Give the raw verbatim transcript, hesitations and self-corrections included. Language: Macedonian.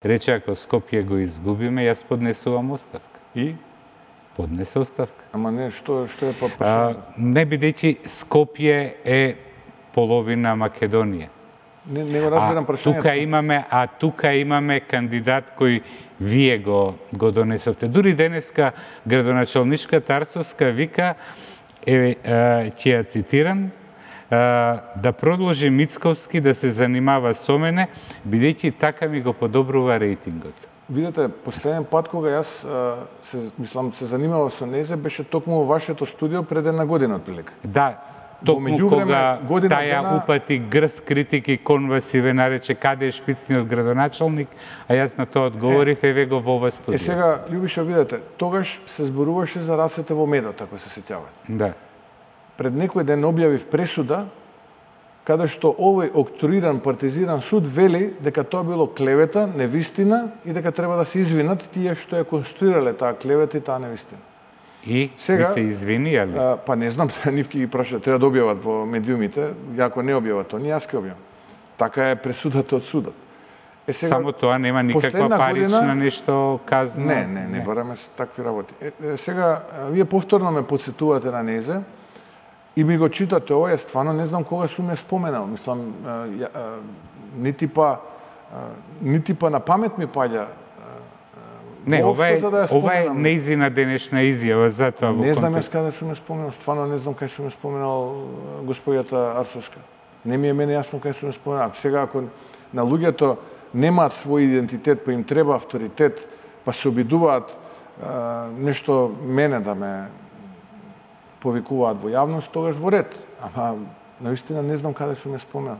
Рече, ако Скопје го изгубиме, јас поднесувам оставка. И? Поднесе оставка. Ама не, што, што е па А, не бидејќи Скопје е половина Македонија. Не, не го разбирам а, прашањето. тука имаме, а тука имаме кандидат кој вие го, го донесовте. Дури денеска градоначалничката Арцовска вика, е, ќе ја цитирам, да продолжи Мицковски да се занимава со мене, бидејќи така ми го подобрува рейтингот. Видете, последен пат кога јас се, мислам, се занимавав со незе, беше токму во вашето студио пред една година отприлика. Да, токму кога таја дена... упати грз критики кон вас и ве нарече каде е шпицниот градоначалник, а јас на тоа одговорив е, еве го во ова студио. Е сега, Љубиша, видете, тогаш се зборуваше за рацете во медот, ако се сеќавате. Да. Пред некој ден објавив пресуда, каде што овој октруиран, партизиран суд вели дека тоа било клевета, невистина и дека треба да се извинат тие што ја конструирале таа клевета и таа невистина. И сега, се извини, али? А, па не знам, нивки ги праша, треба да објават во медиумите, ако не објават тоа, јас ќе објавам. Така е пресудата од судот. Е, сега, само тоа нема никаква парична година... нешто казна? Не, не, не, не бараме такви работи. Е, е, сега, вие повторно ме подсетувате на незе, и ми го читате ова, јас стварно не знам кога сум ја споменал. Мислам, ја, нити па нити па на памет ми паѓа. Не, ова е, да ова е неизина денешна изјава, затоа во не знам јас каде сум ја споменал, стварно не знам кај сум ја споменал господјата Арцовска. Не ми е мене јасно кај сум ја споменал. Сега ако на луѓето немаат свој идентитет, па им треба авторитет, па се обидуваат нешто мене да ме повикуваат во јавност, тогаш во ред. Ама, наистина, не знам каде сум ја споменал.